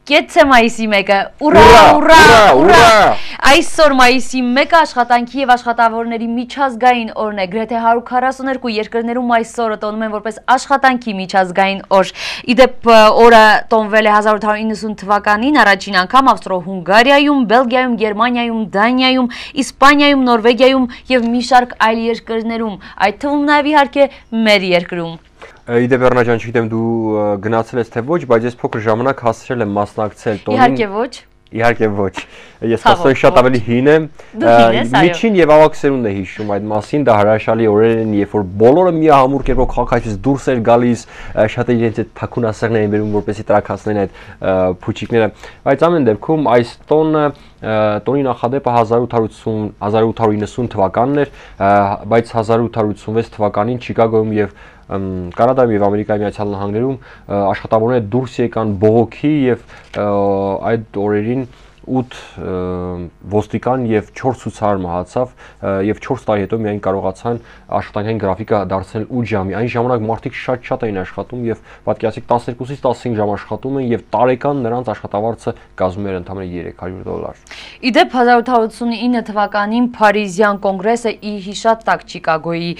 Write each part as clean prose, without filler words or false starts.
Կեցե մայիսի մեկը, ուրա, ուրա, ուրա, այսօր մայիսի մեկը աշխատանքի և աշխատավորների միջազգային օրն է, գրեթե 142 երկրներում այսօրը տոնում են որպես աշխատանքի միջազգային օր, իդեպ օրը տոնվել է 1890 թվականին առաջին անգամ Ավստրո-Հունգարիայում, Բելգիայում, Գերմանիայում, Դանիայում, Իսպանիայում, Նորվեգիայում և մի շարք այլ երկրներում, այդ թվում նաև իհարկե մեր երկրում։ Իդեպ Էռնա ջան, չգիտեմ դու գնացել ես թե ոչ, բայց ես փոքր ժամանակ հասցրել եմ մասնակցել տոնին։ Իհարկե ոչ։ Իհարկե ոչ։ Ես հասցրել շատ ավելի հին եմ։ Միջին եւ ավագ սերունդն է հիշում այդ մասին, դա հրաշալի օրեր են, երբ որ բոլորը միահամուռ կերպով քաղաքից դուրս էր գալիս, շատ իրենց այդ թաքուն ասեղներին բերում, որպեսզի տրաքացնեն այդ փուչիկները։ Բայց ամեն դեպքում այս տոնի նախադեպը 1890 թվականն էր, բայց 1886 թվականին Չիկագոյում եւ Կանադայում եւ Ամերիկայի Միացյալ Նահանգներում աշխատավորները դուրս եկան բողոքի եւ այդ օրերին 8 ոստիկան եւ 4 ցուցարար մահացավ եւ 4 տարի հետո միայն կարողացան աշխատանքային գրաֆիկը դարձնել 8 ժամի։ Այն ժամանակ մարդիկ շատ էին աշխատում եւ պատկերացրեք 12-ից 15 ժամ աշխատում են եւ տարեկան նրանց աշխատավարձը կազմում էր ընդամենը $300։ Իդեպ 1889 թվականին Փարիզյան կոնգրեսը ի հիշատակ Չիկագոյի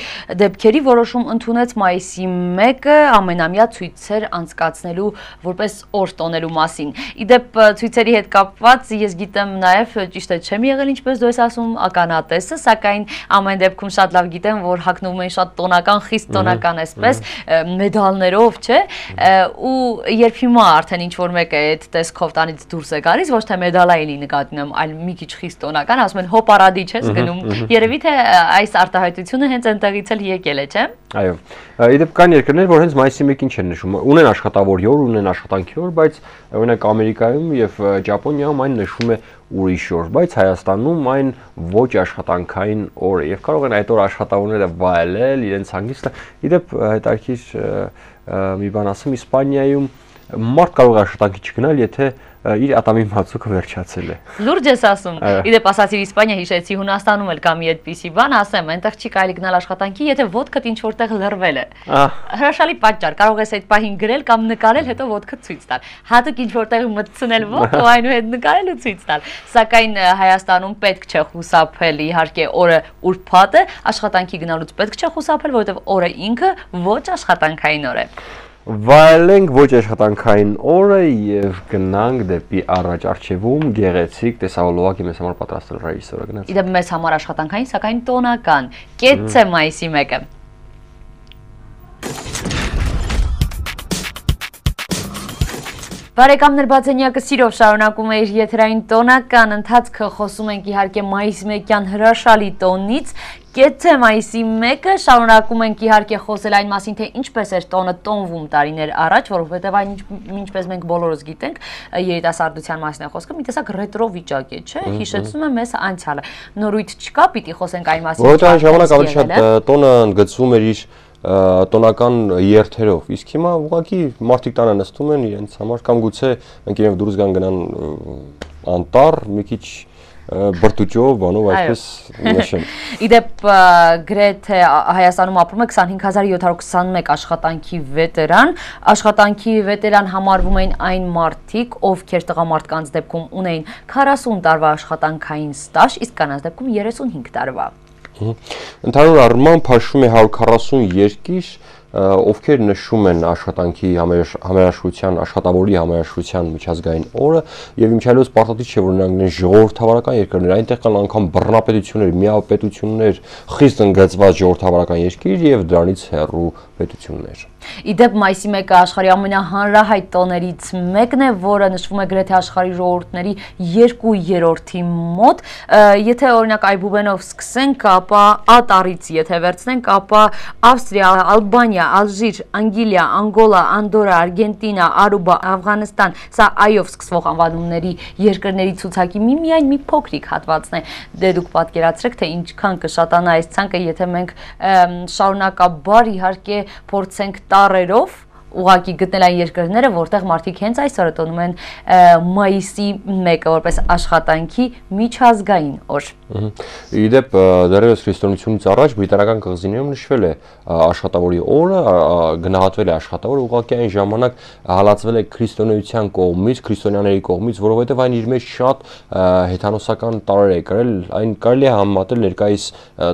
դեպքերի որոշում ընդունեց մայիսի 1-ը ամենամյա ցույցեր անցկացնելու որպես օր տոնելու մասին։ Իդեպ ցույցերի հետ կապված ես գիտեմ նաև ճիշտ է չեմ եղել ինչպես դու ես ասում ականատեսը, սակայն ամեն դեպքում շատ լավ գիտեմ, որ հագնվում են շատ տոնական, խիստ տոնական այսպես մեդալներով, չէ՞, ու երբ հիմա արդեն ինչ որ մեկը այդ տեսքով տանից դուրս է գալիս, ոչ թե մեդալային նկատի ունեմ, այլ մի քիչ խիստ տոնական, ասում են հոպարադի չես գնում։ Երևի թե այս արտահայտությունը հենց այնտեղից էլ եկել է, չէ՞։ Այո։ Իդեպ կան երկրներ, որ հենց մայիսի 1-ին չեն նշում, ունեն աշխատավորի օր, ունեն աշխատանքի օր, բայց օրինակ Ամերիկայում եւ Ճապոնիայում այն նշում է ուրիշ օր, բայց Հայաստանում այն ոչ աշխատանքային օր է եւ կարող են այդ օր աշխատավորները վայելել իրենց հանգիստը։ Իդեպ հետաքրքիր մի բան ասեմ, Իսպանիայում մարդ կարող է աշխատանքի չգնալ, եթե իր ատամի մածուկը վերջացել է։ Լուրջ ես ասում։ Իդեպ ասացի Իսպանիա հիշեցի, Հունաստանում էլ կա մի այդպիսի բան, ասեմ, այնտեղ չի կարելի գնալ աշխատանքի, եթե ոտքդ ինչ որտեղ լռվել է։ Հրաշալի պատճառ, կարող ես այդ պահին գրել կամ նկարել, հետո ոտքդ ցույց տալ։ Հատուկ ինչ որտեղ մտցնել ոտք ու այնուհետ նկարել ու ցույց տալ։ Սակայն Հայաստանում պետք չէ խուսափել, իհարկե օրը ուրբաթ է, աշխատանքի գնալուց պետք չէ խուսափել, որովհետև օրը ինքը ոչ աշխատանքային օր է։ Վայելենք ոչ աշխատանքային օրը եւ գնանք դեպի առաջ արխիվում գեղեցիկ տեսահոլովակի մեզ համար պատրաստել ռեժիսորը գնաց։ Իդեպ մեզ համար աշխատանքային, սակայն տոնական։ Կեցե մայիսի 1-ը։ Բարեկամներ, Բացենյակը սիրով շարունակում է իր եթերային տոնական ընթացքը, խոսում ենք իհարկե մայիսի 1-յան հրաշալի տոնից։ Կեցե մայիսի 1-ը շարունակում ենք իհարկե խոսել այն մասին, թե ինչպես էր տոնը տոնվում տարիներ առաջ, որովհետև այն ինչպես մենք բոլորս գիտենք, երիտասարդության մասին է խոսքը, մի տեսակ ռետրո վիճակ է, չէ՞, հիշեցնում է մեզ անցյալը։ Նորույթ չկա, պիտի խոսենք այն մասին։ Որովհետև այն ժամանակ ավելի շատ տոնը ընդգծվում էր իր տոնական երթերով, իսկ հիմա ուղղակի մարդիկ տանը նստում են իրենց համար կամ գուցե մենք իրենք դուրս գան գնան անտառ, մի քիչ բրտուճով, բանով այսպես նշեն։ Իդեպ գրեթե Հայաստանում ապրում է 25721 աշխատանքի վետերան, աշխատանքի վետերան համարվում են այն մարդիկ, ովքեր տղամարդկանց դեպքում ունեին 40 տարվա աշխատանքային ստաժ, իսկ կանանց դեպքում 35 տարվա։ Ընդհանուր առմամբ հաշվում է 140 երկիր, ովքեր նշում են աշխատանքի համերաշխության, աշխատավորի համերաշխության միջազգային օրը եւ ինչայլոց պարտադիր չէ որ նրանք ժողովրդավարական երկրներ, այնտեղ կան անգամ բռնապետություններ, միապետություններ, խիստ ընդգծված ժողովրդավարական երկիր եւ դրանից հեռու պետություններ։ Իդեպ մայիսի 1-ը աշխարհի ամենահանրահայտ տոներից մեկն է, որը նշվում է գրեթե աշխարհի ժողովուրդների 2/3-ի մոտ։ Եթե օրինակ այբուբենով սկսենք, ապա Ատարից եթե վերցնենք, ապա Ավստրիա, Ալբանիա, Ալժիր, Անգլիա, Անգոլա, Անդորա, Արգենտինա, Արուբա, Աֆղանստան, սա այով սկսվող անվանումների երկրների ցուցակի միայն մի փոքրիկ հատվածն է։ Դե դուք պատկերացրեք, թե ինչքան կշատանա այս ցանկը, եթե մենք շարունակաբար իհարկե փորձենք տարերով ուղղակի գտնել այն երկրները, որտեղ մարդիկ հենց այսօր տոնում են մայիսի 1-ը որպես աշխատանքի միջազգային օր։ Իդեպ դեռևս քրիստոնեությունից առաջ բրիտանական կղզիներում նշվել է աշխատավորի օրը, գնահատվել է աշխատավորը, ուղղակի այն ժամանակ հալածվել է քրիստոնեության կողմից, քրիստոնյաների կողմից, որովհետև այն իր մեջ շատ հեթանոսական տարրեր է կրել, այն կարելի է համեմատել ներկայիս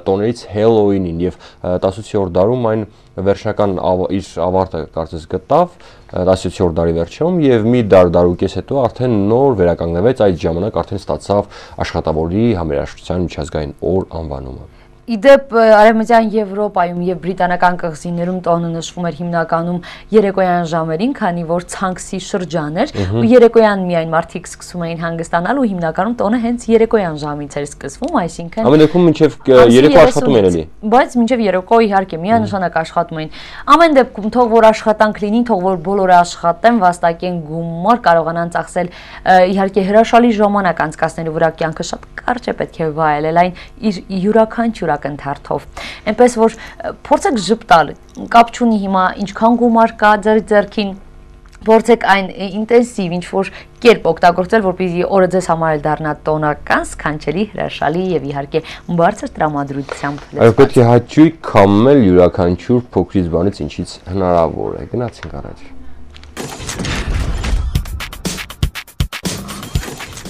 տոներից Հելլոուինին եւ 18-րդ դարում այն վերջնական իր ավարտը կարծես գտավ 17-րդ դարի վերջում եւ մի դարուկես հետո արդեն նոր վերականգնվեց այդ ժամանակ արդեն ստացավ աշխատավորի համերաշխության միջազգային օր անվանումը։ Իդեպ Արևմտյան Եվրոպայում եւ բրիտանական կղզիներում տոնը նշվում էր հիմնականում երեկոյան ժամերին, քանի որ ցանքսի շրջան էր ու երեկոյան միայն մարդիկ սկսում էին հանգստանալ ու հիմնականում տոնը հենց երեկոյան ժամից էր սկսվում, այսինքն ամեն դեպքում մինչեւ երեկո աշխատում են էլի։ Բայց մինչեւ երեկո իհարկե միանշանակ աշխատում էին։ Ամեն դեպքում թող որ աշխատանք լինի, թող որ բոլորը աշխատեն, վաստակեն գումար, կարողանան ծախսել իհարկե հրաշալի ժամանակ անցկացնելու վրա կյանքը շատ կարճ է պետք է վայելել այն իր յուրաքանչյուր ընթարթով։ Այնպես որ փորձեք ժպտալ, կապ չունի հիմա ինչքան գումար կա ձեր ձեռքին, փորձեք այն ինտենսիվ ինչ-որ կերպ օգտագործել, որպեսզի օրը ձեզ համար դառնա տոնական, սքանչելի, հրաշալի եւ իհարկե բարձր տրամադրությամբ։ Այո, պետք է հաճույք քամել յուրաքանչյուր փոքրից բանից, ինչից հնարավոր է։ Գնացինք առաջ։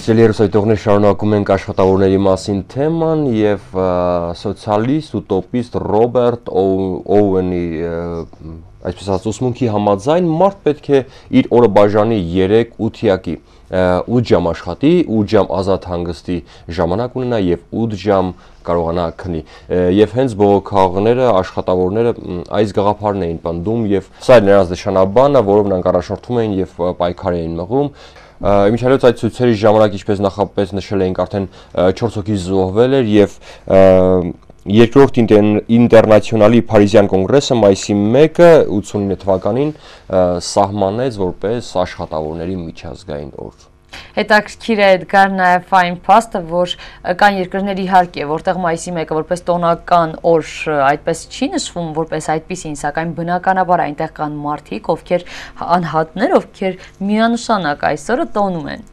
Երուսայտողներ շարունակում ենք աշխատավորների մասին թեման եւ սոցիալիստ ուտոպիստ Ռոբերտ Օուենի այսպես ասած ուսմունքի համաձայն մարդ պետք է իր օրը բաժանի 3-8-յակի 8 ժամ աշխատի, 8 ժամ ազատ հանգստի ժամանակ ունենա եւ 8 ժամ կարողանա քնի եւ հենց բողոքողները աշխատավորները այս գաղափարն էին պնդում եւ սա էր նրանց նշանաբանը, որով նրանք առաջնորդում էին եւ պայքար էին մղում։ Իմիջիայլոց այդ ցույցերի ժամանակ ինչպես նախապես նշել էինք արդեն 4 հոգի զոհվել էր եւ երկրորդ ինտերնացիոնալի Փարիզյան կոնգրեսը մայիսի 1-ը 89 թվականին սահմանեց որպես աշխատավորների միջազգային օր։ Հետաքրքիր է Էդգար նաև այն փաստը, որ կան երկրներ իհարկե, որտեղ մայիսի 1-ը որպես տոնական օր այդպես չի նշվում որպես այդպիսին, սակայն բնականաբար այնտեղ կան մարդիկ, ովքեր անհատներ, ովքեր միանշանակ այսօրը տոնում են։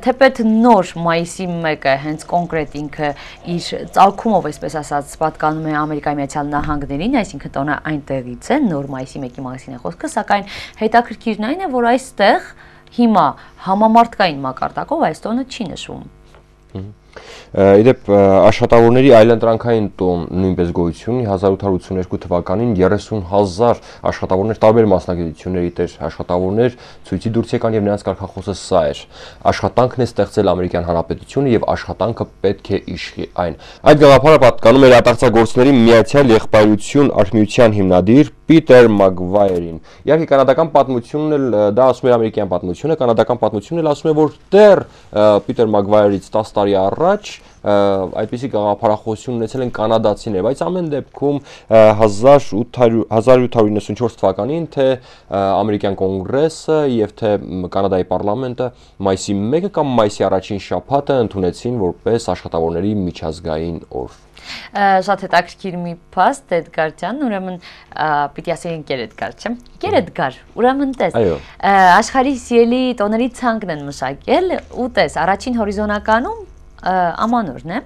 Թեպետ նոր մայիսի 1-ը հենց կոնկրետ ինքը իր ծագումով, այսպես ասած, պատկանում է Ամերիկայի Միացյալ Նահանգներին, այսինքն տոնը այնտեղից է, նոր մայիսի 1-ի մասին է խոսքը, սակայն հետաքրքիրն այն է, որ այստեղ հիմա համամարտկային մակարդակով այս տոնը չի նշվում։ Իդեպ աշխատավորների այլընտրանքային տոն նույնպես գոյություն ունի 1882 թվականին 30,000 աշխատավորներ տարբեր մասնագիտությունների տեր աշխատավորներ ցույցի դուրս եկան եւ նրանց կարգախոսը սա էր. աշխատանքն է ստեղծել Ամերիկյան Հանրապետությունը եւ աշխատանքը պետք է իշխի այն։ Այդ գաղափարը պատկանում էր ատաղծագործների Միացյալ Եղբայրություն արհմիության հիմնադիր Պիտեր Մագվայերին։ Իհարկե կանադական պատմությունն էլ դա ասում է ամերիկյան պատմությունը, կանադական պատմությունն էլ ասում է որ դեռ Պիտեր Մագվայերից 10 տարի առաջ այդպիսի գաղափարախոսություն ունեցել են կանադացիներ, բայց ամեն դեպքում 1894 թվականին թե ամերիկյան կոնգրեսը եւ թե կանադայի պարլամենտը մայիսի 1-ը կամ մայիսի առաջին շաբաթը ընդունեցին որպես աշխատավորների միջազգային օր։ Շատ հետաքրքիր մի փաստ Էդգար ջան, ուրեմն պիտի ասենք Էդգար, չէ՞։ Էդգար, ուրեմն տես։ Աշխարհի սիրելի տոների ցանկն են մշակել ու տես, առաջին հորիզոնականում ամանորն է,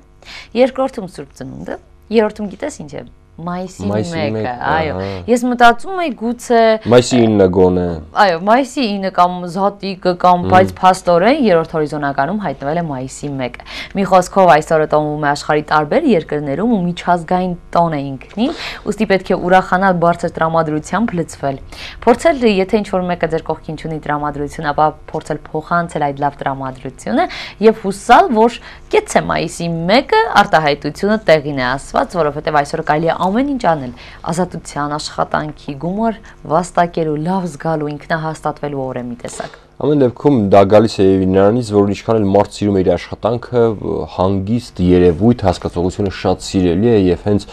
երկրորդում Սուրբ Ծնունդը, երրորդում գիտես ինչ է։ Մայիսի 1-ը, այո։ Ես մտածում եի գուցե մայիսի 9-ը գոնե։ Այո, մայիսի 9-ը կամ Զատիկը կամ բայց փաստորեն երրորդ հորիզոնականում հայտնվել է մայիսի 1-ը։ Մի խոսքով այսօրը տոնվում է աշխարհի տարբեր երկրներում ու միջազգային տոն է ինքնին, ուստի պետք է ուրախանալ բարձր տրամադրությամբ լցվել։ Փորձել, եթե ինչ-որ մեկը ձեր կողքին չունի տրամադրություն, ապա փորձել փոխանցել այդ լավ տրամադրությունը եւ հուսալ, որ գեցե մայիսի 1-ը արտահայտությունը տեղին է ասված, որովհետեւ այսօր կարելի է ամեն ինչ անել ազատության, աշխատանքի, գումար վաստակելու, լավ զգալու, ինքնահաստատվելու օր է մի տեսակ։ Ամեն դեպքում դա գալիս է նրանից, որ ինչքան էլ մարդ սիրում է իր աշխատանքը, հանգիստ երևույթ հասկացողությունը շատ սիրելի է եւ հենց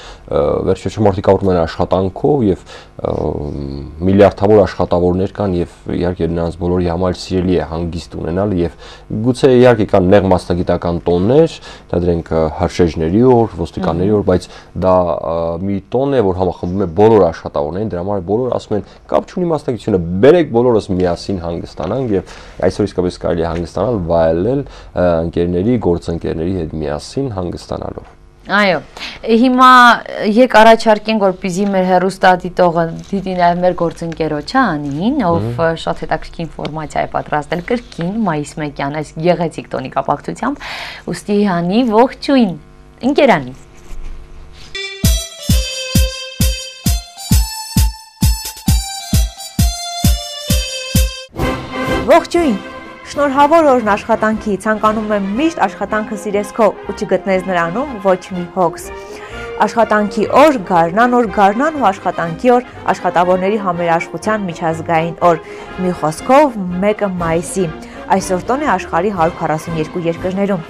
վերջերս մարդիկ ապրում են աշխատանքով եւ միլիարդավոր աշխատավորներ կան եւ իհարկե նրանց բոլորի համար սիրելի է հանգիստ ունենալ եւ գուցե իհարկե կան նեղ մասնագիտական տոններ, դա դրանք հրշեջների օր, ոստիկանների օր, բայց դա մի տոն է, որ համախմբում է բոլոր աշխատավորներին, դրա համար բոլորը ասում են կապ չունի մասնագիտությունը, բերեք բոլորս միասին հանգստանանք եւ այսօր իսկապես կարելի է հանգստանալ, վայելել ընկերների, գործընկերների հետ միասին հանգստանալով։ Այո, հիմա եկ առաջարկենք, որպեսզի մեր հեռուստադիտողը դիտի նաև մեր գործընկերոջը Անին, ով շատ հետաքրքիր ինֆորմացիա է պատրաստել կրկին մայիս 1-յան այս գեղեցիկ տոնի կապակցությամբ, ուստի Անի, ողջույն, ընկերանի։ Ողջույն, շնորհավոր օրն աշխատանքի, ցանկանում եմ միշտ աշխատանքը սիրես քո ու չգտնես նրանում ոչ մի հոգս։ Աշխատանքի օր, գարնան ու աշխատանքի օր, աշխատավորների համերաշխության միջազգային օր։ Մի խոսքով 1 մայիսի։ Այսօր տոն է աշխարհի 142 երկրներում։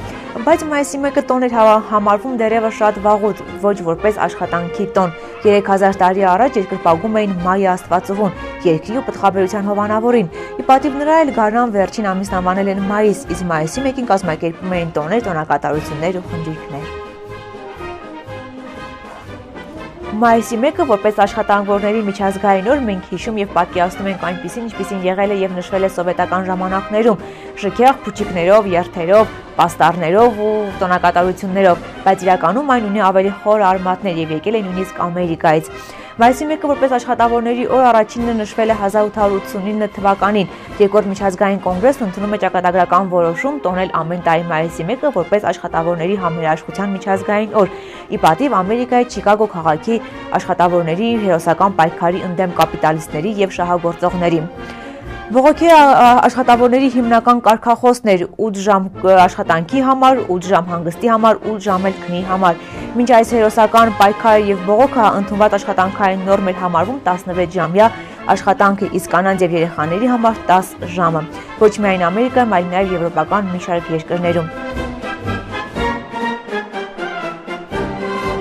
Բայց մայիսի 1-ը տոն էր համարվում դեռևս շատ վաղուց, ոչ որպես աշխատանքի տոն։ 3000 տարի առաջ երկրպագում էին մայ աստվածուհուն, երկրի ու պտղաբերության հովանավորին։ Ի պատիվ նրա էլ գարնան վերջին ամիսն անվանել են մայիս, իսկ մայիսի 1-ին կազմակերպում էին տոներ, տոնակատարություններ ու խնջույքներ։ Մայիսի 1-ը որպես աշխատավորների միջազգային օր մենք հիշում եւ պատկերացնում ենք այնպիսին, ինչպիսին եղել է եւ նշվել է սովետական ժամանակներում, շքեղ փուչիկներով, երթերով, պաստառներով ու տոնակատարություններով, բայց իրականում այն ունի ավելի խոր արմատներ եւ եկել է նույնիսկ Ամերիկայից։ Մայիսի 1-ը որպես աշխատավորների օր առաջինը նշվել է 1889 թվականին։ Երկրորդ միջազգային կոնգրեսն ընդունում է ճակատագրական որոշում տոնել ամեն տարի մայիսի 1-ը որպես աշխատավորների համերաշխության միջազգային օր։ Ի պատիվ Ամերիկայի Չիկագո քաղաքի աշխատավորների հերոսական պայքարի ընդդեմ կապիտալիստների եւ շահագործողների։ Բողոքի աշխատավորների հիմնական կարգախոսն էր 8 ժամ աշխատանքի համար, 8 ժամ հանգստի համար, 8 ժամ էլ քնի համար։ Մինչ այս հերոսական պայքարը եւ բողոքը ընդունված աշխատանքային նորմ էր համարվում 16 ժամյա աշխատանքը, իսկ կանանց եւ երեխաների համար 10 ժամը։ Ոչ միայն Ամերիկայում, այլ նաեւ եվրոպական մի շարք երկրներում։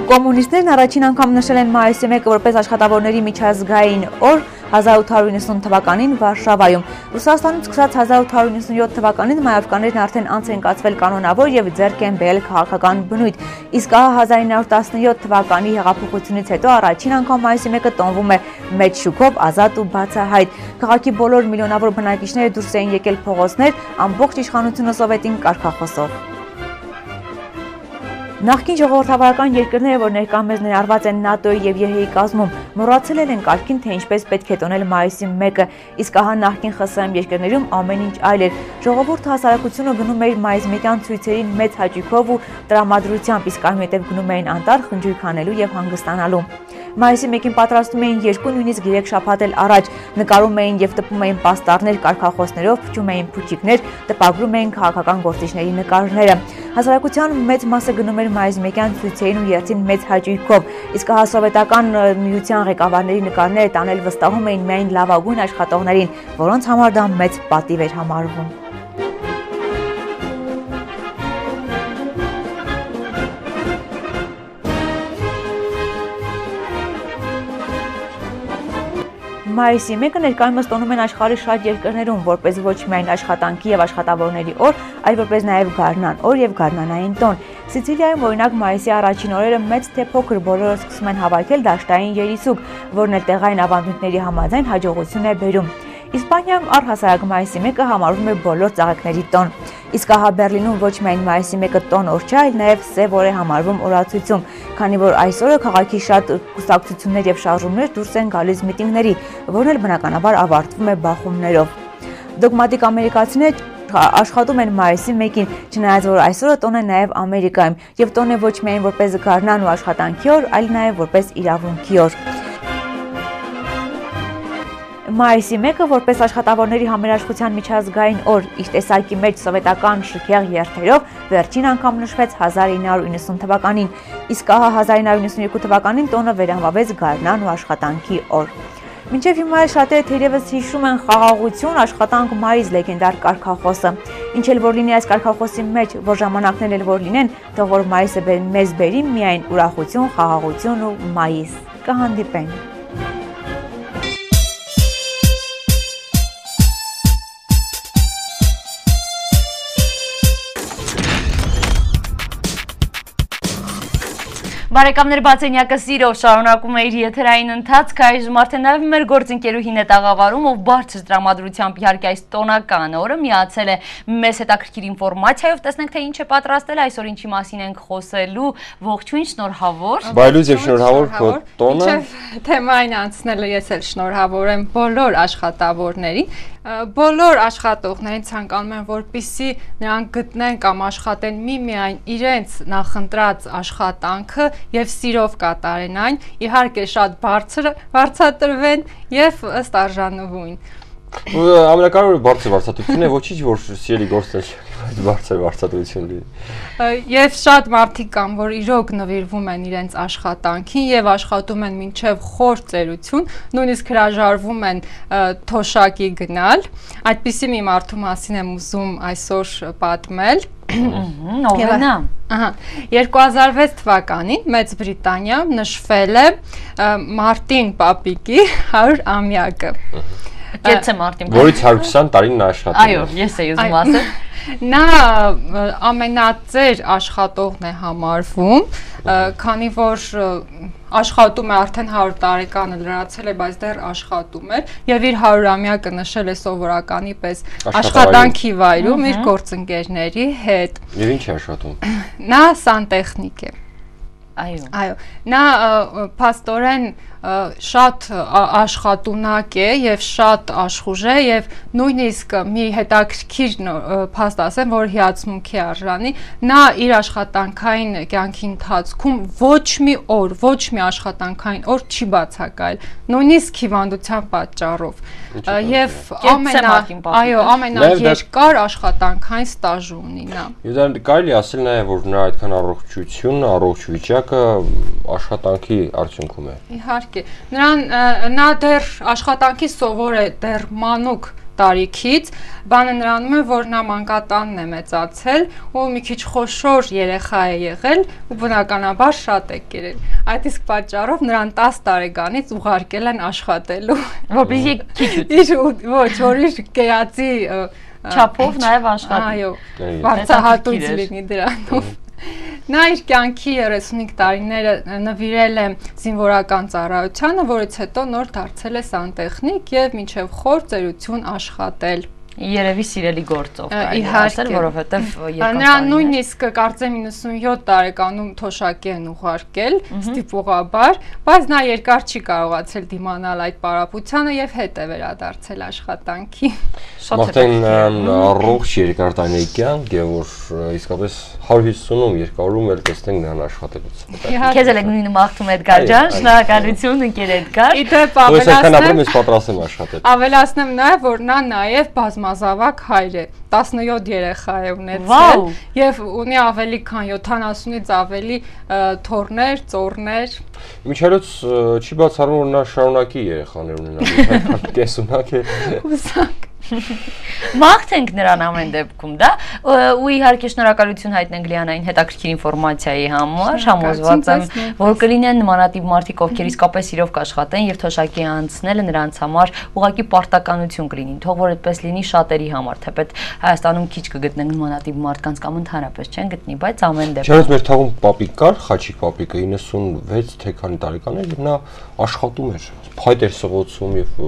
Կոմունիստներն առաջին անգամ նշել են մայիսի 1-ը որպես աշխատավորների միջազգային օր 1890 թվականին Վարշավայում։ Ռուսաստանից սկսած 1897 թվականին մայավկաներն արդեն անց են կացվել կանոնավոր եւ ձեռք են բերել քաղաքական բնույթ։ Իսկ 1917 թվականի հեղափոխությունից հետո առաջին անգամ մայիսի 1-ը տոնվում է մեծ շուկով, ազատ ու բացահայտ։ Քաղաքի բոլոր միլիոնավոր բնակիչները դուրս էին եկել փողոցներ ամբողջ իշխանությունը սովետին կարգախոսով։ Նախկին ժողովրդավարական երկրները, որ ներկայումս ներառված են ՆԱՏՕ-ի եւ ԵՀ-ի կազմում, մոռացել են կարգին, թե ինչպես պետք է տոնել մայիսի 1-ը, իսկ ահա նախկին ԽՍՀՄ երկրներում ամեն ինչ այլ էր։ Ժողովուրդը հասարակությունը գնում էր մայիսի 1-յան ցույցերին մեծ հաճույքով ու տրամադրությամբ, իսկ այնուհետև գնում էին անտառ խնջույք անելու եւ հանգստանալու։ Մայիսի 1-ին պատրաստում էին 2, նույնիսկ 3 շաբաթ էլ առաջ, նկարում էին եւ տպում էին պաստառներ կարգախոսներով, փչում էին փուչիկներ, տպագրում էին քաղաքական գործիչների նկարները։ Հասարակության մեծ մասը գնում էր մայիսի 1-յան ցույցերին ու երթին մեծ հաճույքով, իսկ հա սովետական միության ղեկավարների նկարները տանել վստահում էին միայն լավագույն աշխատողներին, որոնց համար դա մեծ պատիվ էր համարվում։ Մայիսի 1-ը ներկայումս տոնում են աշխարհի շատ երկրներում, որպես ոչ միայն աշխատանքի եւ աշխատավորների օր, այլ որպես նաեւ գարնան օր եւ գարնանային տոն։ Սիցիլիայում օրինակ մայիսի առաջին օրերը մեծ թե փոքր բոլորը սկսում են հավաքել դաշտային երիսուկ, որն էլ տեղային ավանդույթների համաձայն հաջողություն է բերում։ Իսպանիայում առհասարակ մայիսի 1-ը համարվում է բոլոր ծաղիկների տոն։ Իսկ ահա Բերլինում ոչ միայն մայիսի 1-ը տոն օր չէ, այլ նաև սև օր է համարվում օրացույցում, քանի որ այս օրը քաղաքի շատ կուսակցություններ եւ շարժումներ դուրս են գալիս միտինգների, որն էլ բնականաբար ավարտվում է բախումներով։ Դոգմատիկ ամերիկացիները աշխատում են մայիսի 1-ին, չնայած որ այսօրը տոն է նաև Ամերիկայում, եւ տոն է ոչ միայն որպես գարնան ու աշխատանքի օր, այլ նաև որպես իրավունքի օր։ Մայիսի 1-ը որպես աշխատավորների համերաշխության միջազգային օր, իր տեսակի մեջ սովետական շքեղ երթերով վերջին անգամ նշվեց 1990 թվականին, իսկ ահա 1992 թվականին տոնը վերանվավեց գարնան ու աշխատանքի օր։ Մինչև հիմա շատերը թերևս հիշում են խաղաղություն, աշխատանք, մայիս լեգենդար կարգախոսը։ Ինչ էլ որ լինի այս կարգախոսի մեջ, որ ժամանակներ էլ որ լինեն, թող որ մայիսը մեզ բերի միայն ուրախություն, խաղաղություն ու մայիս։ Կհանդիպենք։ Բարեկամներ, բացենյակը սիրով շարունակում է իր եթերային ընթացքը, այժմ արդեն նաև մեր գործընկերուհին է տաղավարում, ով բարձր տրամադրությամբ իհարկե այս տոնական օրը միացել է մեզ հետաքրքիր ինֆորմացիայով, տեսնենք թե ինչ է պատրաստել այսօր, ինչի մասին ենք խոսելու, ողջույն, շնորհավոր։ Բայլուց եւ շնորհավոր քո տոնը։ Մինչև թեմային անցնելը ես էլ շնորհավոր եմ բոլոր աշխատավորներին։ Բոլոր աշխատողներին ցանկանում եմ, որպեսզի նրանք գտնեն կամ աշխատեն միմիայն իրենց նախընտրած աշխատանքը եւ սիրով կատարեն այն, իհարկե շատ բարձրատրվեն եւ ըստ արժանվույն։ Ամենակարևորը բարձր վարձատրությունն է, ոչինչ որ սիրելի գործն է, բարձր վարձատրություն լինի։ Եվ շատ մարդիկ կան, որ իրոք նվիրվում են իրենց աշխատանքին եւ աշխատում են մինչեւ խոր ծերություն, նույնիսկ հրաժարվում են թոշակի գնալ։ Այդպիսի մի մարդու մասին եմ ուզում այսօր պատմել։ Ով է նա։ 2006 թվականին Մեծ Բրիտանիայում նշվել է Մարտին Պապիկի 100-ամյակը։ Կեցե Մարտին։ Որից 120 տարին նա աշխատում է։ Այո, ես էի ուզում ասել։ Նա ամենածեր աշխատողն է համարվում, քանի որ աշխատում է արդեն 100 տարեկանը լրացել է, բայց դեռ աշխատում էր եւ իր 100-ամյակը նշել է սովորականի պես աշխատանքի վայրում իր գործընկերների հետ։ Եվ ինչ է աշխատում։ Նա սանտեխնիկ է։ Այո, նա փաստորեն շատ աշխատունակ է եւ շատ աշխուժ է եւ նույնիսկ մի հետաքրքիր փաստ ասեմ, որ հիացմունքի արժանի, նա իր աշխատանքային կյանքի ընթացքում ոչ մի աշխատանքային օր չի բացակայել, նույնիսկ հիվանդության պատճառով եւ ամենաերկար աշխատանքային ստաժ ունի նա։ Եվ դա կարելի ասել նաեւ, որ նա այդքան առողջությունն, առողջ վիճակը աշխատանքի արդյունքում է։ Իհարկե, նա դեռ աշխատանքի սովոր է դեռ մանուկ տարիքից, բանը նրանում է, որ նա մանկատանն է մեծացել ու մի քիչ խոշոր երեխա է եղել ու բնականաբար շատ է կերել։ Այդ իսկ պատճառով նրան 10 տարեկանից ուղարկել են աշխատելու։ Որպեսզի քիչ որ իր կերածի չափով նաև աշխատի։ Այո, բարձրահատույց լինի դրանով։ Նա իր կյանքի 35 տարիները նվիրել է զինվորական ծառայությանը, որից հետո նոր դարձել է սանտեխնիկ եւ մինչեւ խոր ծերություն աշխատել։ Երևի սիրելի գործով կարելի ասել, որովհետև նրան նույնիսկ կարծեմ 97 տարեկանում թոշակի են ուղարկել ստիպողաբար, բայց նա երկար չի կարողացել դիմանալ այդ պարապությանը եւ հետ է վերադարձել աշխատանքի։ Մաղթեն առողջ երկար տարիների կյանք եւ որ իսկապես 150-ում երկարում էլ տեսնենք նրան աշխատելուց։ Քեզ էլ նույնը մաղթում Էդգար ջան, շնորհակալություն ընկեր Էդգար։ Իդեպ ավելացնեմ նաեւ, որ նա նաեւ բազմազավակ հայր է, 17 երեխա է ունեցել եւ ունի ավելի քան 70-ից ավելի թոռներ, ծոռներ։ Միջերոց չի բացառվում, որ նա շարունակի երեխաներ ունենալ, կեսունակ է։ Հուսանք։ Մաղթենք նրան ամեն դեպքում, դա, ու իհարկե շնորհակալություն հայտնենք Լիանային հետաքրքիր ինֆորմացիայի համար, համոզված եմ, որ կլինեն նմանատիպ մարդիկ, ովքեր իսկապես իրով կաշխատեն եւ թոշակի անցնելը նրանց համար ուղղակի պարտականություն կլինի, թող որ այդպես լինի շատերի համար, թեպետ Հայաստանում քիչ կգտնենք նմանատիպ մարդկանց կամ ընդհանրապես չեն գտնի, բայց ամեն դեպքում։ Չնայած մեր թաղում պապիկ կար, Խաչիկ պապիկը 96 թե քանի տարեկան էր եւ նա աշխատում էր, փայտ էր սղոցում եւ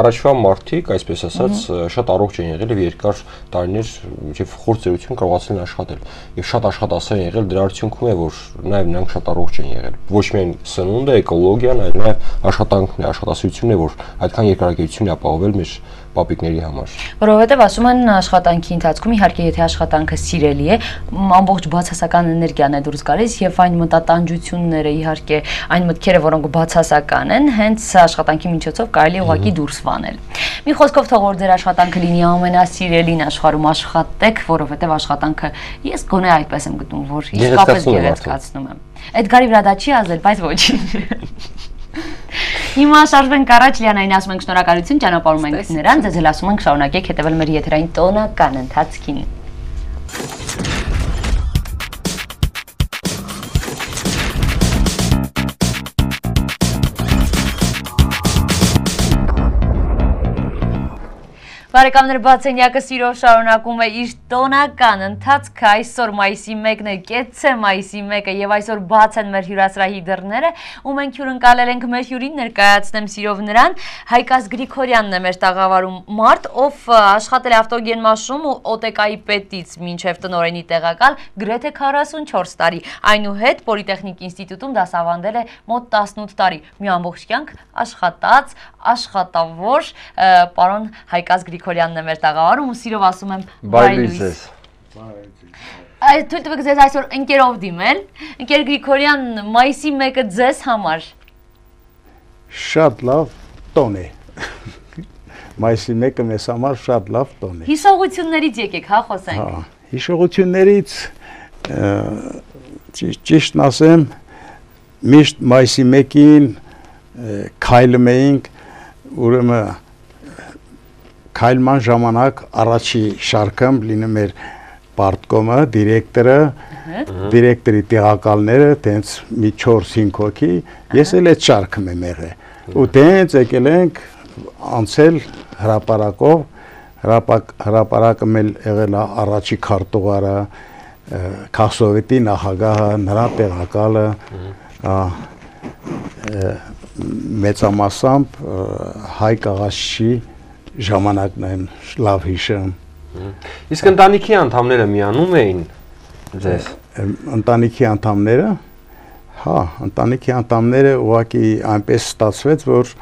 առաջվա մարդիկ, այսպես ասած, շատ առողջ են եղել եւ երկար տարիներ եւ խոր ծերություն կարողացել են աշխատել եւ շատ աշխատասեր են եղել, դրա արդյունքում է որ նաեւ նրանք շատ առողջ են եղել ոչ միայն սնունդը, էկոլոգիան, այլ նաեւ աշխատանքն է, աշխատասիրությունն է, որ այդքան երկարակեցություն է ապահովել մեր պապիկների համար։ Որովհետև ասում են աշխատանքի ընթացքում իհարկե եթե աշխատանքը սիրելի է, ամբողջ բացասական էներգիան է դուրս գալիս եւ այն մտատանջությունները իհարկե այն մտքերը, որոնք բացասական են, հենց աշխատանքի միջոցով կարելի ուղղակի դուրս վանել։ Մի խոսքով թող որ ձեր աշխատանքը լինի ամենասիրելին աշխարհում աշխատեք, որովհետև աշխատանքը ես գոնե այդպես եմ գտնում, որ իսկապես գեղեցկացնում եմ։ Էդգարի վրա դա չի ազդել, բայց ոչինչ։ Հիմա շարժվենք առաջ, Լիանային ասում ենք շնորհակալություն, ճանապարհում ենք նրան, ձեզ էլ ասում ենք շարունակեք հետևել մեր եթերային տոնական ընթացքին։ Բարեկամներ, բացենյակը սիրով շարունակում է իր տոնական ընթացքը, այսօր մայիսի 1-ն է, կեցցե մայիսի 1-ը եւ այսօր բաց են մեր հյուրասրահի դռները ու մենք հյուրընկալել ենք մեր հյուրին, ներկայացնեմ սիրով նրան, Հայկազ Գրիգորյանն է մեր տաղավարում, մարդ, ով աշխատել է ավտոգենմաշում ու ՕՏԿ-ի պետից մինչև տնօրենի տեղակալ գրեթե 44 տարի, այնուհետ Պոլիտեխնիկ ինստիտուտում դասավանդել է մոտ 18 տարի, մի ամբողջ կյանք աշխատած, աշխատավոր, պարոն Հայկազ Գրիգորյանն է մեր տաղավարում ու սիրով ասում եմ բարի լույս։ Թույլ տվեք ձեզ այսօր ընկերով դիմել։ Ընկեր Գրիգորյան, մայիսի 1-ը ձեզ համար շատ լավ տոն է։ Մայիսի 1-ը մեզ համար շատ լավ տոն է։ Հիշողություններից եկեք, հա, խոսենք։ Հիշողություններից ճիշտն ասեմ, միշտ մայիսի 1-ին քայլում էինք, ուրեմն քայլման ժամանակ առաջի շարքում լինում էր պարտկոմը, դիրեկտորի տեղակալները, տենց մի 4-5 հոգի, ես էլ այդ շարքում եմ եղել։ Ու տենց եկել ենք անցել հրապարակով, հրապարակը meil եղել առաջի քարտուղարը, Քաղսովետի նախագահը, նրա տեղակալը, մեծամասամբ Հայկ Աղաշի ժամանակն եմ լավ հիշում։ Իսկ ընտանիքի անդամները միանում էին ձեզ։ Ընտանիքի անդամները, հա, ընտանիքի անդամները ուղղակի այնպես ստացվեց, որ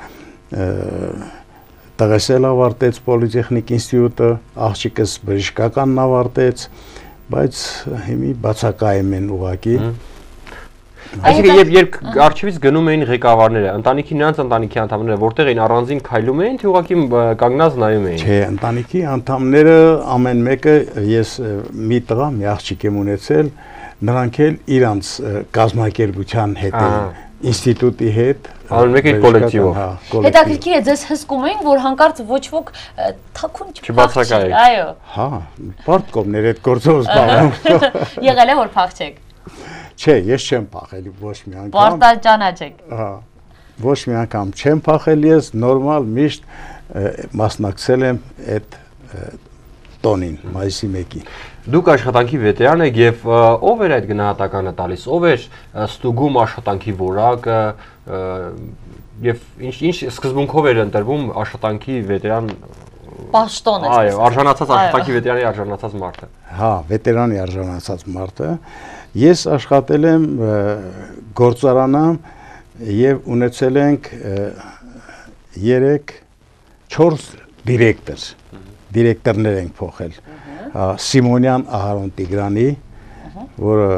տղես էլ ավարտեց Պոլիտեխնիկ ինստիտուտը, աղջիկս բժշկականն ավարտեց, բայց հիմի բացակայում են ուղղակի։ Այսինքն երբ արխիվից գնում էին ղեկավարները, նրանց ընտանիքի անդամները որտեղ էին առանձին քայլում էին, թե ուղղակի կանգնած նայում էին։ Չէ, ընտանիքի անդամները ամեն մեկը ես մի տղա, մի աղջիկ եմ ունեցել, նրանք էլ իրանց կազմակերպության հետ են, ինստիտուտի հետ, ամեն մեկը իր կոլեկտիվով։ Հետաքրքիր է, ձեզ հսկում էին, որ հանկարծ ոչ ոք թաքուն չբացակայեք։ Այո։ Հա, պարտկոմներ այդ գործով զբաղվում։ Եղել է որ փախչեք։ Չէ, ես չեմ փախել ոչ մի անգամ։ Պարտաճանաչեք։ Հա, ոչ մի անգամ չեմ փախել ես, նորմալ միշտ մասնակցել եմ այդ տոնին, մայիսի 1-ին։ Դուք աշխատանքի վետերան եք եւ ով էր այդ գնահատականը տալիս, ով էր ստուգում աշխատանքի որակը եւ ինչ սկզբունքով էր ընտրվում աշխատանքի վետերան Պաշտոն է։ Այո, արժանացած աշխատանքի վետերանի արժանացած մարդը։ Հա, վետերանի արժանացած մարդը։ Ես աշխատել եմ գործարանում եւ ունեցել ենք 3-4 դիրեկտորներ ենք փոխել։ Սիմոնյան Ահարոն Տիգրանի, որը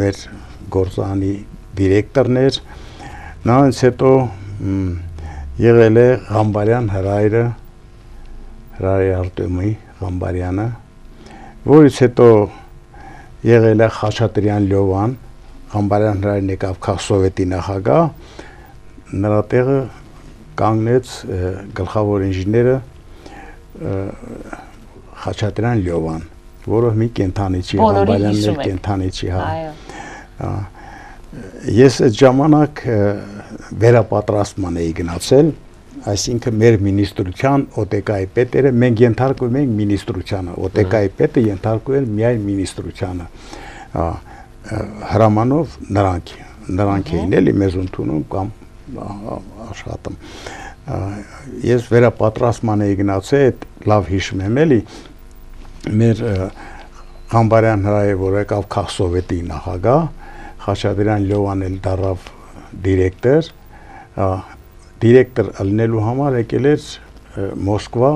մեր գործարանի դիրեկտորն էր, նրանից հետո եղել է Ղամբարյան Հրայրը, Հրայր Արտեմի Ղամբարյանը, որից հետո եղել է Խաչատրյան Լյովան, Ղամբարյան Հրայրն եկավ Քաղսովետի նախագահ, նրա տեղը կանգնեց գլխավոր ինժեները Խաչատրյան Լյովան, որը մի կենթանի չի, Ղամբարյանն էլ կենթանի չի, հա։ Ես այդ ժամանակ վերապատրաստման էի գնացել, այսինքն մեր մինիստրության ՕՏԿ-ի պետերը, մենք ենթարկում ենք մինիստրությանը, ՕՏԿ-ի պետը ենթարկում են միայն մինիստրությանը, հրամանով նրանք էին էլի մեզ ընդունում կամ աշխատում։ Ես վերապատրաստման էի գնացել, այդ լավ հիշում եմ էլի, մեր Ղամբարյան Հրայրը, որ եկավ Քաղսովետի նախագահ, Խաչատրյան Լյովան էլ դառավ դիրեկտոր, դիրեկտոր լինելու համար եկել էր Մոսկվա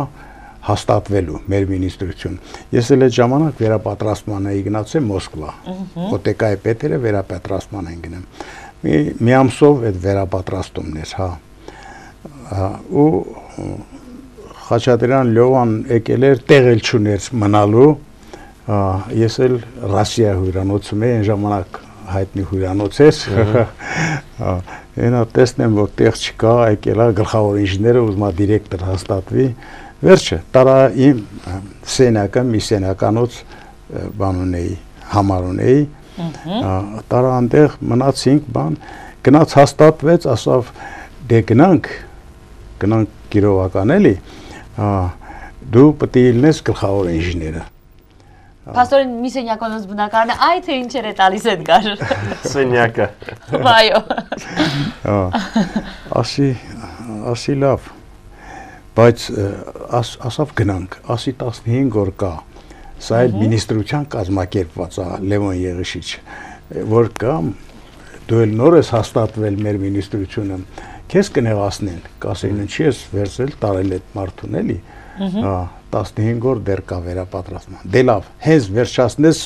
հաստատվելու մեր մինիստրություն։ Ես էլ այդ ժամանակ վերապատրաստման էի գնացել Մոսկվա, ՕՏԿ-ի պետերը վերապատրաստման են գնում։ Մի ամսով այդ վերապատրաստումն էր, հա։ Ու Խաչատրյան Լյովան եկել էր, տեղ էլ չուներ մնալու, ես էլ Ռասիա հյուրանոցում էի, այն ժամանակ հայտնի հյուրանոց էր, Այնա տեսնեմ, որ տեղ չկա, եկել է գլխավոր ինժեները ուզում է դիրեկտոր հաստատվի։ Վերջը տարա իմ սենակը մի սենականոց բան ունեի, համար ունեի։ Տարա այնտեղ մնացինք բան, գնաց հաստատվեց, ասավ դե գնանք Կիրովական էլի, դու պետք է լինես գլխավոր ինժեները։ Պաստորին մի սենյակոնոց բնակարանը, այ թե ինչեր է տալիս այդ գար։ Սենյակը։ Այո։ Ասի լավ, բայց ասավ գնանք, ասի 15 օր կա, սա էլ մինիստրության կազմակերպված է Լևոն Եղիշիչ, որ կամ դու էլ նոր ես հաստատվել մեր մինիստրությունը, քեզ կնեղացնեն, կասեն ինչի ես վերցրել տարել այդ մարդուն էլի, 15 օր դեռ կա վերապատրաստման, դե լավ, հենց վերջացնես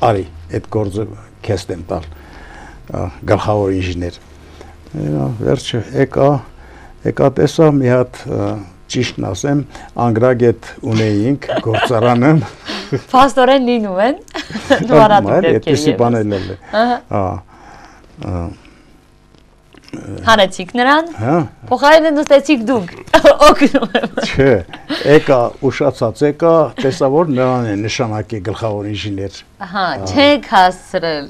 արի, այդ գործը քեզ եմ տալ, գլխավոր ինժեներ, վերջը եկա տեսա մի հատ ճիշտն ասեմ, անգրագետ ունեինք գործարանը, Պաստորեն լինում են, նորադու դեպքերի Հանեցիք նրան, փոխարենը նստեցիք դուք, օգնում եմ։ Չէ, եկա, ուշացած եկա, տեսա որ նրան է նշանակի գլխավոր ինժեներ։ Չեք հասցրել։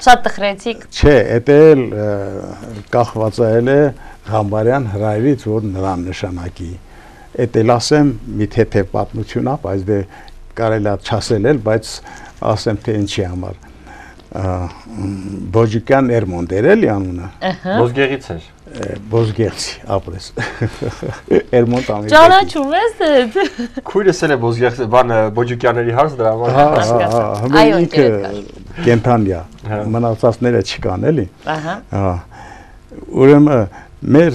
Շատ տխրեցիք։ Չէ, էդ էլ կախված է Ղամբարյան հրայրից, որ նրան նշանակի։ Էդ էլ ասեմ մի թեթև պատմություն է, բայց դե կարելի է չասել էլ, բայց ասեմ թե ինչի համար։ Բոջիկյան Էրմոնտ էր էլի անունը։ Բոզգեղից էր։ Բոզգեղցի, ապրես։ Էրմոնտ ամի։ Ճանաչում ես այդ։ Քույրս էլ է Բոզգեղցի, բան Բոջիկյանների հարց դրա համար։ Այո, ինքը կենթանյա, մնացածները չկան էլի։ Ուրեմն մեր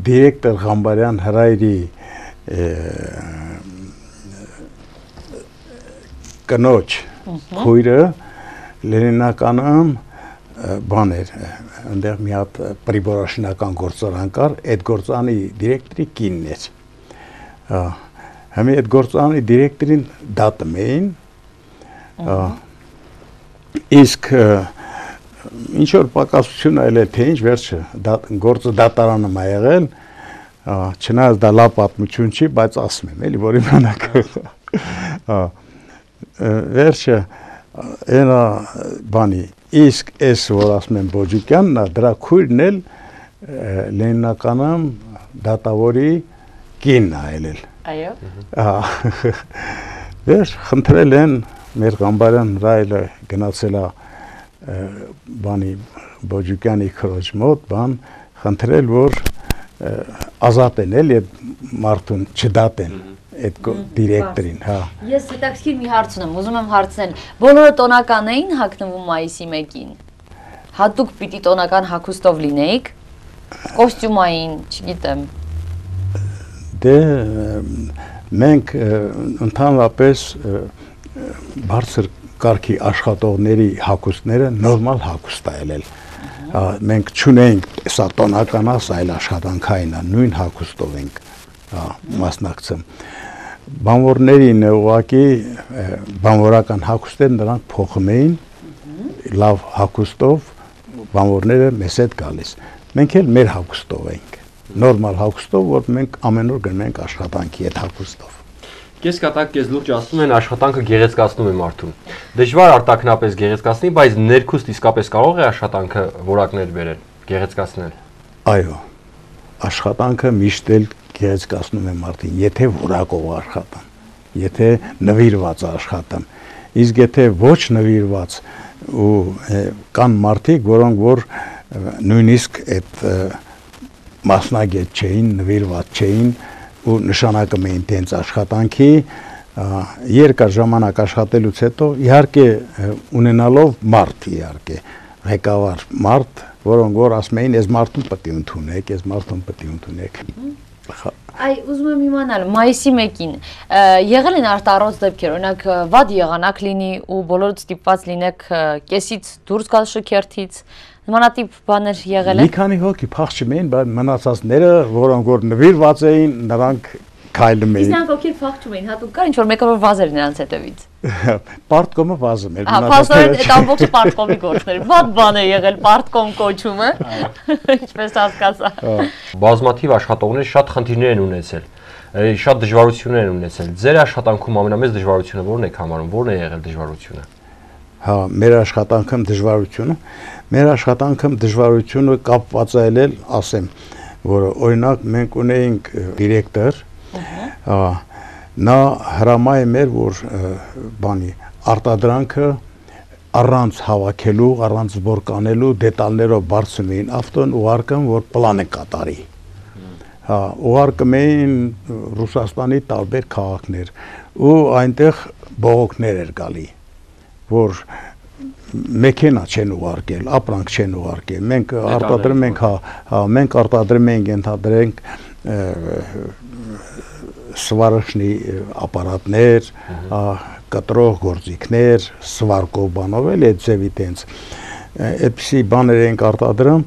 դիրեկտոր Ղամբարյան հրայրի կնոջ քույրը Լենինականում բան էր, այնտեղ մի հատ պրիբորաշինական գործարան կար, այդ գործարանի դիրեկտորի կինն էր։ Համի այդ գործարանի դիրեկտորին դատում էին, իսկ ինչ որ պակասություն այլ է, թե ինչ վերջը, գործը դատարանում է եղել, չնայած դա լավ պատմություն չի, բայց ասում եմ, էլի, որ իմանաք։ Վերջը Այնա բանի, իսկ ես որ ասում եմ Բոջիկյանն է, դրա քույրն էլ Լենինականում դատավորի կինն է ելել։ Այո։ Վերջ խնդրել են մեր Ղամբարյան հրայրը գնացել է բանի Բոջիկյանի քրոջ մոտ, բան խնդրել որ ազատեն էլ այդ մարդուն չդատեն։ Այդ դիրեկտորին, հա։ Ես հետաքրքիր մի հարց ունեմ, ուզում եմ հարցնել, բոլորը տոնական էին հագնվում մայիսի 1-ին։ Հատուկ պիտի տոնական հագուստով լինեիք, կոստյումային, չգիտեմ։ Դե մենք ընդհանրապես բարձր կարգի աշխատողների հագուստները նորմալ հագուստ է ելել։ Մենք չունենք սա տոնական է, սա այլ աշխատանքային է, նույն հագուստով ենք մասնակցում։ Բանվորներին ուղղակի բանվորական հագուստներ նրանք փոխում էին լավ հագուստով բանվորները մեզ հետ գալիս։ Մենք էլ մեր հագուստով ենք, նորմալ հագուստով, որ մենք ամեն օր գնում ենք աշխատանքի այդ հագուստով։ Կես կատակ, կես լուրջ ասում են աշխատանքը գեղեցկացնում է մարդուն։ Դժվար արտաքնապես գեղեցկացնի, բայց ներքուստ իսկապես կարող է աշխատանքը որակներ բերել, գեղեցկացնել։ Այո, աշխատանքը միշտ էլ գեղեցկացնում է մարդին, եթե որակով աշխատան, եթե նվիրված աշխատան, իսկ եթե ոչ նվիրված ու կան մարդիկ, որոնք որ նույնիսկ այդ մասնագետ չէին, նվիրված չէին ու նշանակում էին տենց աշխատանքի, երկար ժամանակ աշխատելուց հետո իհարկե ունենալով մարդ իհարկե, ղեկավար մարդ, որոնք որ ասում էին, ես մարդուն պետք է ընդունեք, ես մարդուն պետք է ընդունեք։ Այ ուզում եմ իմանալ, մայիսի 1-ին եղել են արտառոց դեպքեր, օրինակ վատ եղանակ լինի ու բոլորը ստիպված լինեք կեսից դուրս գալ շքերթից, նմանատիպ բաներ եղել են։ Մի քանի հոգի փախչում էին, բայց մնացածները, որոնք որ նվիրված էին, նրանք քայլում էին։ Իսկ նրանք ովքեր փախչում էին, հատուկ կար ինչ որ մեկը որ վազեր նրանց հետևից։ Պարտկոմը վազում էր։ Փաստորեն այդ ամբողջը պարտկոմի գործն էր։ Ված բան է եղել պարտկոմ կոչումը, ինչպես հասկացա։ Բազմաթիվ աշխատողներ շատ խնդիրներ են ունեցել, շատ դժվարություններ են ունեցել։ Ձեր աշխատանքում ամենամեծ դժվարությունը ո՞րն եք համարում, ո՞րն է եղել դժվարությունը։ Հա, մեր աշխատանքում դժվարությունը կապված է ելել, ասեմ, որ օրինակ մենք ունեինք դիրեկտոր, նա հրամայում էր, որ բանի արտադրանքը առանց հավաքելու, առանց զբորկանելու դետալներով բարձում էին ավտոն ուղարկում, որ պլանը կատարի։ Հա, ուղարկում էին Ռուսաստանի տարբեր քաղաքներ ու այնտեղ բողոքներ էր գալի, որ մեքենա չեն ուղարկել, ապրանք չեն ուղարկել։ Մենք արտադրում ենք, մենք արտադրում ենք, ենթադրենք սվարաշնի ապարատներ, կտրող գործիքներ, սվարկով բանով էլ այդ ձևի տենց այդպիսի բաներ ենք արտադրում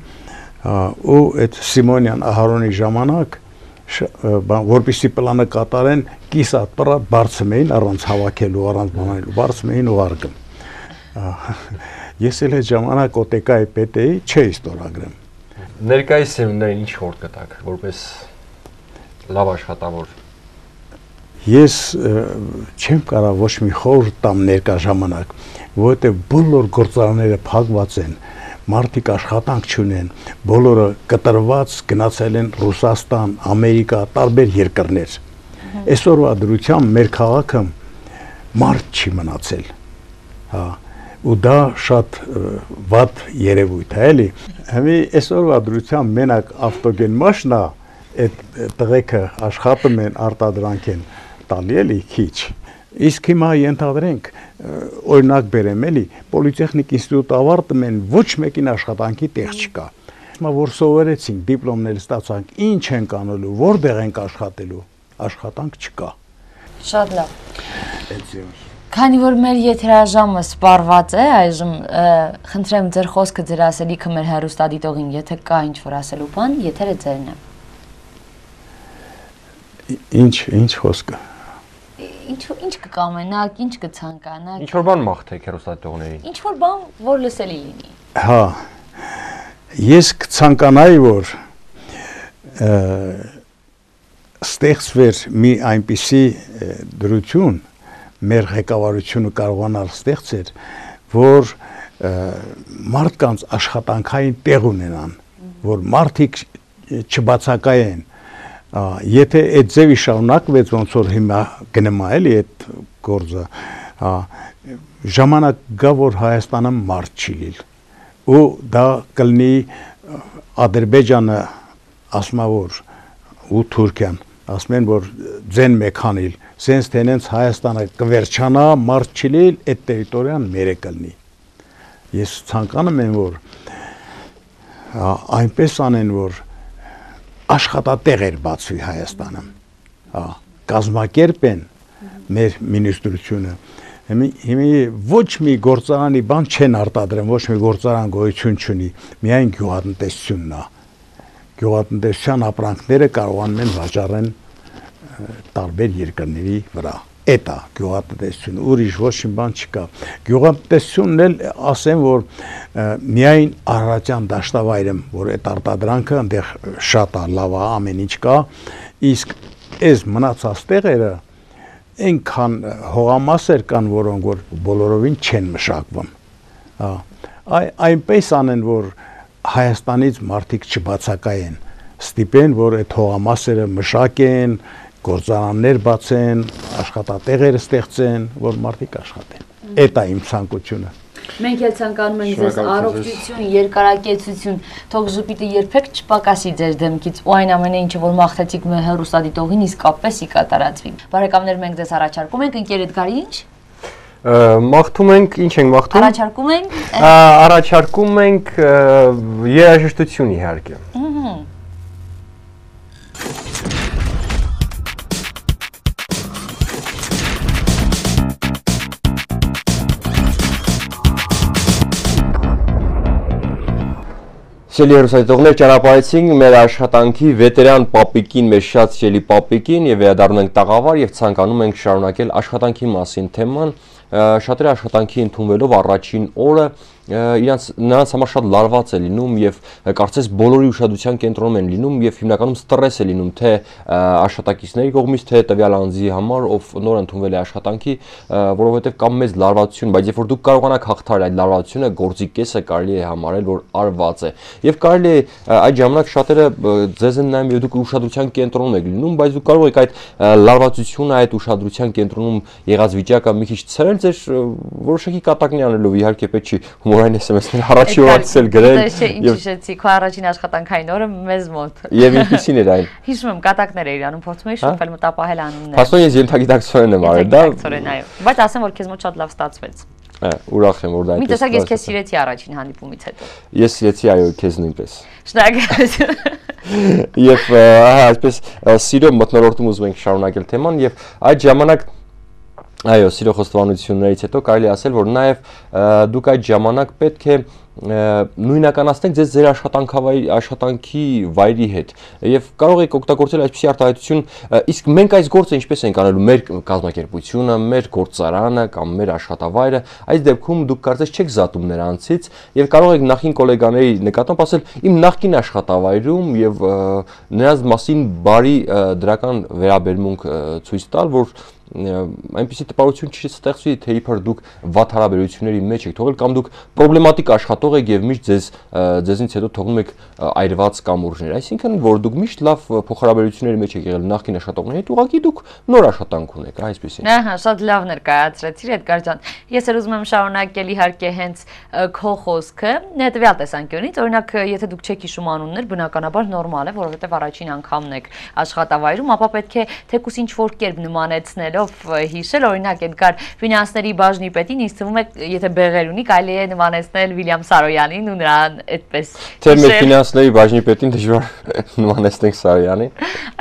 ու այդ Սիմոնյան Ահարոնի ժամանակ որպեսզի պլանը կատարեն կիսատ պրատ բարձում էին առանց հավաքելու, առանց բանալու, բարձում էին ուղարկում։ Ես էլ այդ ժամանակ օտեկայի պետ էի, չէի ստորագրում։ Ներկայիս սերունդներին ինչ խորտ կտակ, որպես լավ աշխատավոր։ Ես չեմ կարող ոչ մի խորհուրդ տամ ներկա ժամանակ, որովհետև բոլոր գործարանները փակված են, մարդիկ աշխատանք չունեն, բոլորը կտրված գնացել են Ռուսաստան, Ամերիկա, տարբեր երկրներ։ Այսօրվա դրությամբ մեր քաղաքը մարդ չի մնացել։ Հա, ու դա շատ վատ երևույթ է, էլի։ Հիմա այսօրվա դրությամբ մենակ ավտոգեն մաշնա այդ տղեկը աշխատում են, արտադրանք են տալի էլի քիչ։ Իսկ հիմա ենթադրենք օրինակ բերեմ էլի պոլիտեխնիկ ինստիտուտ ավարտում են ոչ մեկին աշխատանքի տեղ չկա։ Հիմա որ սովորեցինք, դիպլոմներ ստացանք, ինչ ենք անելու, որտեղ ենք աշխատելու, աշխատանք չկա։ Շատ լավ։ Քանի որ մեր եթերաժամը սպառված է, այժմ խնդրեմ ձեր խոսքը, ձեր ասելիքը մեր հեռուստադիտողին, եթե կա ինչ որ ասելու բան, եթերը ձերն է։ Ինչ խոսքը։ Ինչ կկամենաք, ինչ կցանկանաք։ Ինչ որ բան մաղթեք հեռուստադիտողներին։ Ինչ որ բան, որ լսելի լինի։ Հա։ Ես կցանկանայի, որ ստեղծվեր մի այնպիսի դրություն, մեր ղեկավարությունը կարողանալ ստեղծել, որ մարդկանց աշխատանքային տեղ ունենան, որ մարդիկ չբացակայեն։ Եթե այդ ձևի շարունակվեց, ոնց որ հիմա գնում է էլի այդ գործը, ժամանակ գա, որ Հայաստանը մարդ չի լինի։ Ու դա կլինի Ադրբեջանը, ասում է որ ու Թուրքիան, ասում են որ ձեն մեքանիլ, սենց տենենց Հայաստանը կվերջանա, մարդ չի լինի, այդ տերիտորիան մեր է կլինի։ Ես ցանկանում եմ, որ այնպես անեն, որ աշխատատեղեր բացվի Հայաստանում, կազմակերպեն մեր մինիստրությունը, հիմա ոչ մի գործարանի բան չեն արտադրում, ոչ մի գործարան գոյություն չունի, միայն գյուղատնտեսությունն է, գյուղատնտեսության ապրանքները կարողանում են վաճառեն տարբեր երկրների վրա, էդ է գյուղատնտեսությունը, ուրիշ ոչ մի բան չկա, գյուղատնտեսությունն էլ ասեմ, որ միայն Արարատյան դաշտավայրում, որ այդ արտադրանքը այնտեղ շատ է, լավ է, ամեն ինչ կա, իսկ այս մնացած տեղերը այնքան հողամասեր կան, որոնք որ բոլորովին չեն մշակվում։ Այնպես անեն, որ Հայաստանից մարդիկ չբացակայեն, ստիպեն, որ այդ հողամասերը մշակեն, գործարաններ բացեն, աշխատատեղեր ստեղծեն, որ մարդիկ աշխատեն։ Էդ է իմ ցանկությունը։ Մենք էլ ցանկանում ենք ձեզ առողջություն, երկարակեցություն, թող ժպիտը երբեք չպակասի ձեր դեմքից, ու այն ամենը, ինչը որ մաղթեցիք մեր հեռուստադիտողին, իսկապես ի կատարածվի։ Բարեկամներ, մենք ձեզ առաջարկում ենք ընկեր Էդգարի ինչ։ Մաղթում ենք, ինչ ենք մաղթում։ Առաջարկում ենք երաժշտություն իհարկե։ Սիրելի հեռուստադիտողներ, ճանապարհեցինք մեր աշխատանքի վետերան պապիկին, մեր շատ սիրելի պապիկին եւ վերադառնում ենք տաղավար եւ ցանկանում ենք շարունակել աշխատանքի մասին թեման։ Շատերը աշխատանքի ընդունվելով առաջին օրը նրանց համար շատ լարված է լինում եւ կարծես բոլորի ուշադրության կենտրոնում են լինում եւ հիմնականում ստրես է լինում թե աշխատակիցների կողմից թե տվյալ անձի համար, ով նոր ընդունվել է աշխատանքի, որովհետեւ կամ մեծ լարվածություն, բայց երբ որ դուք կարողանաք հաղթահարել այդ լարվածությունը, գործի կեսը կարելի է համարել, որ արված է։ Եվ կարելի է այդ ժամանակ շատերը ձեզ են նայում եւ դուք ուշադրության կենտրոնում եք լինում, բայց դուք կարող եք այդ լարվածությունը, այդ ուշադրության կենտրոնում եղած վիճակը մի քիչ ցրել ձեր որոշակի կատակնի անելով, իհարկե պետք չի հումորային SMS-ներ առաջի օրացել գրել։ Ինչ հիշեցի, քո առաջին աշխատանքային օրը մեզ մոտ։ Եվ ինչպիսին էր այն։ Հիշում եմ, կատակներ էիր անում, փորձում էի շփվել, մտապահել անուններ։ Փաստորեն ես ենթագիտակցորեն եմ արել դա։ Ենթագիտակցորեն, այո։ Բայց ասեմ, որ քեզ մոտ շատ լավ ստացվեց։ Ուրախ եմ, որ դա այդպես։ Մի տեսակ ես քեզ սիրեցի առաջին հանդիպումից հետո։ Ես սիրեցի, այո, քեզ նույնպես։ Շնորհակալություն։ Եվ այսպես սիրո մթնոլորտում ուզում ենք շարունակել թեման եւ այդ ժամանակ այո, սիրո խոստովանություններից հետո կարելի ասել, որ նաև դուք այդ ժամանակ պետք է նույնականացնեք ձեր աշխատանքի վայրի հետ եւ կարող եք օգտագործել այսպիսի արտահայտություն, իսկ մենք այս գործը ինչպես ենք անելու մեր կազմակերպությունը, մեր գործարանը կամ մեր աշխատավայրը, այս դեպքում դուք կարծես չեք զատում նրանցից եւ կարող եք նախին գոլեգաների նկատմամբ ասել իմ նախկին աշխատավայրում եւ նրանց մասին բարի դրական վերաբերմունք ցույց տալ, որ այնպիսի տպավորություն չստեղծվի, թե իբր դուք վատ հարաբերությունների մեջ եք թողել կամ դուք պրոբլեմատիկ աշխատող եք եւ միշտ ձեզնից հետո թողնում եք այրված կամուրջներ, այսինքն որ դուք միշտ լավ փոխհարաբերությունների մեջ եք եղել նախկին աշխատողների հետ, ուղղակի դուք նոր աշխատանք ունեք, այսպեսին։ Ահա, շատ լավ ներկայացրեցիր, Էդգար ջան։ Ես էլ ուզում եմ շարունակել իհարկե հենց քո խոսքը, հետեւյալ տեսանկյունից, օրինակ, եթե դուք չեք հիշում անուններ, բնականաբար նորմալ է, որովհետեւ առաջին անգամն եք աշխատավայրում, ապա պետք է թեկուս ինչ որ կերպ նմանեցնել հիշել, օրինակ Էդգար ֆինանսների բաժնի պետին ինձ թվում է, եթե բեղեր ունի, կարելի է նմանեցնել Վիլյամ Սարոյանին ու նրան այդպես։ Թե մեր ֆինանսների բաժնի պետին դժվար նմանեցնենք Սարոյանին։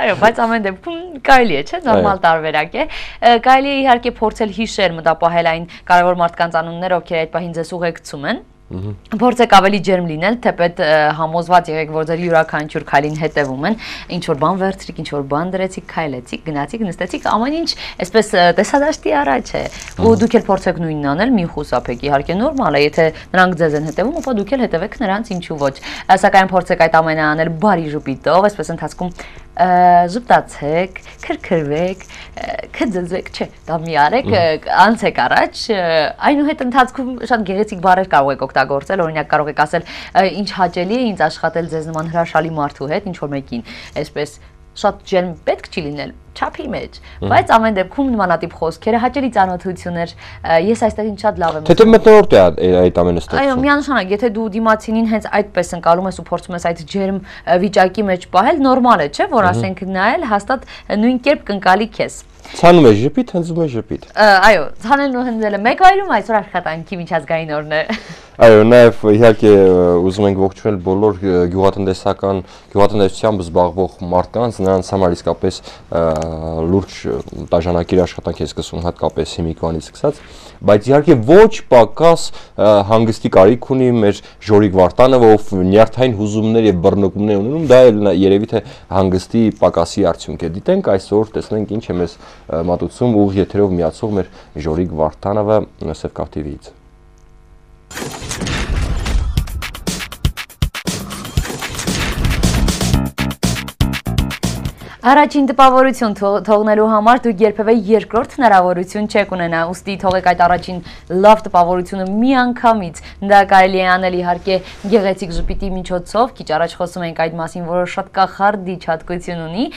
Այո, բայց ամեն դեպքում կարելի է, չէ՞, նորմալ տարբերակ է։ Կարելի է իհարկե փորձել հիշել, մտապահել այն կարևոր մարդկանց անունները, ովքեր այդ պահին ձեզ ուղեկցում են։ Փորձեք ավելի ջերմ լինել, թեպետ համոզված եղեք, որ ձեր յուրաքանչյուր քայլին հետևում են, ինչ որ բան վերցրիք, ինչ որ բան դրեցիք, քայլեցիք, գնացիք, նստեցիք, ամեն ինչ այսպես տեսադաշտի առաջ է։ Ու դուք էլ փորձեք նույնն անել, մի խուսափեք, իհարկե նորմալ է, եթե նրանք ձեզ են հետևում, ապա դուք էլ հետևեք նրանց, ինչու ոչ։ Սակայն փորձեք այդ ամենը անել բարի ժպիտով, այսպես ընթացքում ժպտացեք, քրքրվեք, քծզեք, չէ, դա մի արեք, անցեք առաջ, այնուհետ ընթացքում շատ գեղեցիկ բառեր կարող եք օգտագործել, օրինակ կարող եք ասել, ինչ հաճելի է ինձ աշխատել ձեզ նման հրաշալի մարդու հետ, ինչ որ մեկին, այսպես շատ ջերմ պետք չի լինել չափի մեջ, բայց ամեն դեպքում նմանատիպ խոսքերը հաճելի ծանոթություններ, ես այստեղ ինչ շատ լավ եմ։ Թե մտնորդ է այդ ամենը ստեղծում։ Այո, միանշանակ, եթե դու դիմացինին հենց այդպես ընկալում ես ու փորձում ես այդ ջերմ վիճակի մեջ պահել, նորմալ է, չէ՞, որ ասենք նայել, հաստատ նույն կերպ կընկալի քեզ։ Ցանում է ժպիտ, հնձում է ժպիտ։ Այո, ցանելն ու հնձելը մեկ վայրում, այսօր աշխատանքի միջազգային օրն է։ Այո, նաև իհարկե ուզում ենք ողջունել բոլոր գյուղատնտեսությամբ զբաղվող մարդկանց, նրանց համար իսկապես լուրջ տաժանակիր աշխատանք է սկսում, հատկապես հիմիկվանից սկսած, բայց իհարկե ոչ պակաս հանգստի կարիք ունի մեր Ժորիկ Վարդանովը, ով նյարդային հուզումներ եւ բռնկումներ ունենում, դա էլ երևի թե հանգստի պակասի արդյունք է։ Դիտենք այսօր, տեսնենք ինչ է մեզ մատուցում ուղիղ եթերով միացող մեր Ժորիկ Վարդանովը Սևկավ TV-ից։ Առաջին տպավորություն թողնելու համար դուք երբևէ երկրորդ հնարավորություն չեք ունենա, ուստի թողեք այդ առաջին լավ տպավորությունը միանգամից, դա կարելի է անել իհարկե գեղեցիկ ժպիտի միջոցով, քիչ առաջ խոսում ենք այդ մասին, որը շատ կախարդիչ հատկություն ունի,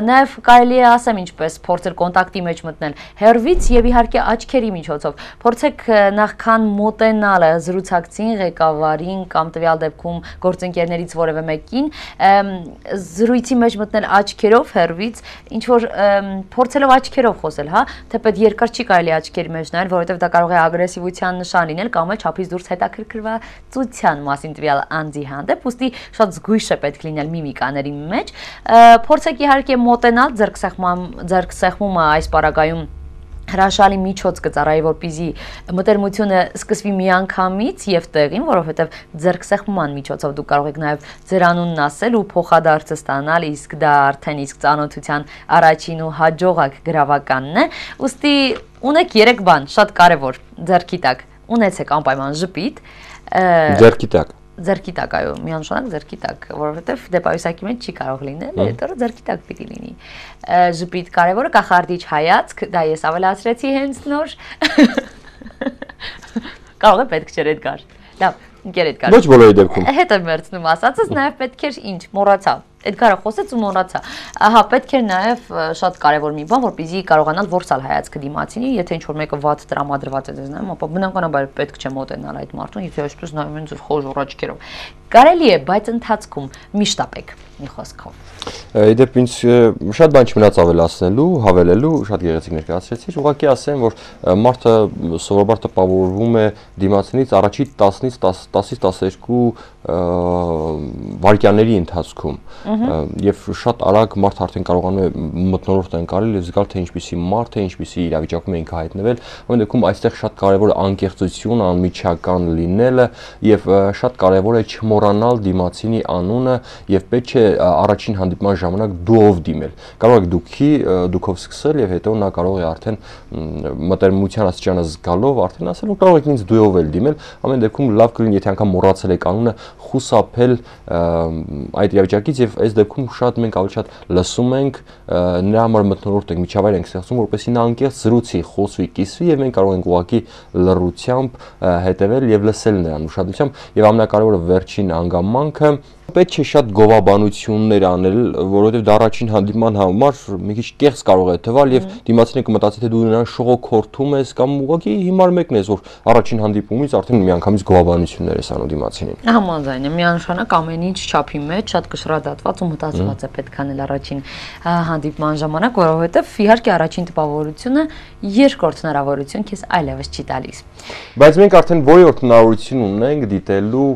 նաև կարելի է ասեմ ինչպես փորձել կոնտակտի մեջ մտնել հեռվից եւ իհարկե աչքերի միջոցով, փորձեք նախքան մոտենալը զրուցակցին, ղեկավարին կամ տվյալ դեպքում գործընկերներից որևէ մեկին, զրույցի մեջ մտնել աչքերով հեռվից, ինչ որ փորձելով աչքերով խոսել, հա, թեպետ երկար չի կարելի աչքերի մեջ նայել, որովհետև դա կարող է ագրեսիվության նշան լինել կամ էլ չափից դուրս հետաքրքրվածության մասին տվյալ անձի հանդեպ, ուստի շատ զգույշ է պետք լինել միմիկաների մեջ, փորձեք իհարկե մոտենալ ձեռքսեղմումը այս պարագայում հրաշալի միջոց կծառայի, որպեսզի մտերմությունը սկսվի միանգամից եւ տեղին, որովհետեւ ձեռքսեղմման միջոցով դուք կարող եք նաեւ ձեր անունն ասել ու փոխադարձը ստանալ, իսկ դա արդեն իսկ ծանոթության առաջին ու հաջողակ գրավականն է։ Ուստի ունեք 3 բան, շատ կարեւոր, ձեռքի տակ։ Ունեցեք անպայման ժպիտ։ Ձեռքի տակ։ Ձեռքի տակ, այո, միանշանակ ձեռքի տակ, որովհետև դեպայուսակի մեջ չի կարող լինել, հետո ձեռքի տակ պիտի լինի։ Ժպիտ կարևորը, կախարդիչ հայացք, դա ես ավելացրեցի հենց նոր։ Կարող է պետք չէր Էդգար։ Լավ, ընկեր Էդգար։ Ոչ բոլորի դեպքում։ Հետո մերցնում ասածս, նաև պետք էր ինչ, մոռացա։ Էդգարը խոսեց ու մոռացա։ Ահա, պետք էր նաև շատ կարևոր մի բան, որպեսզի կարողանալ որսալ հայացքը դիմացինի, եթե ինչ-որ մեկը վատ տրամադրված է դες նայում, ապա բնականաբար պետք չէ մոտենալ այդ մարդուն, եթե այսպես նայում են ձեր խոժոռ աչքերով։ Կարելի է, բայց ընթացքում միշտ ապեք, մի խոսքով։ Իդեպ ինձ շատ բան չմնաց ավելացնելու, հավելելու, շատ գեղեցիկ ներկայացրեցիք, ուղղակի ասեմ, որ մարդը սովորաբար տպավորվում է դիմացինից առաջի 10-ից 12 վայրկյանների ընթացքում եւ շատ արագ մարդ արդեն կարողանում է մթնոլորտ ընկալել եւ զգալ թե ինչպիսի մարդ է, ինչպիսի իրավիճակում է ինքը հայտնվել։ Ամեն դեպքում այստեղ շատ կարեւոր է անկեղծությունը, անմիջական լինելը եւ շատ կարեւոր է չմոռանալ դիմացինի անունը եւ պետք է առաջին հանդիպման ժամանակ դուով դիմել։ Կարող եք դուքով սկսել եւ հետո նա կարող է արդեն մտերմության աստիճանը զգալով արդեն ասել, որ կարող եք ինձ դուով էլ դիմել։ Ամեն դեպքում լավ կլինի, եթե անգամ մոռացել եք անունը, խուսափել այդ իրավիճակից եւ այս դեպքում շատ մենք ավելի շատ լսում ենք, նրա համար մթնոլորտ ենք, միջավայր ենք ստեղծում, որպեսզի նա անկեղծ զրուցի, խոսվի, կիսվի եւ մենք կարող ենք ուղղակի լռությամբ հետեւել եւ լսել նրան ուշադրությամբ եւ ամենակարևորը վերջին անգամանքը պետք է շատ գովաբանություններ անել, որովհետև դա առաջին հանդիպման համար մի քիչ կեղծ կարող է թվալ եւ դիմացինը կմտածի թե դու նրան շողոքորթում ես կամ ուղղակի հիմար մեկն ես, որ առաջին հանդիպումից արդեն միանգամից գովաբանություններ ես անում դիմացինին։ Համաձայն եմ, միանշանակ ամեն ինչ չափի մեջ շատ կշռադատված ու մտածված է պետք անել առաջին հանդիպման ժամանակ, որովհետև իհարկե առաջին տպավորությունը երկրորդ հնարավորություն քեզ այլևս չի տալիս։ Բայց մենք արդեն որրորդ հնարավորություն ունենք դիտելու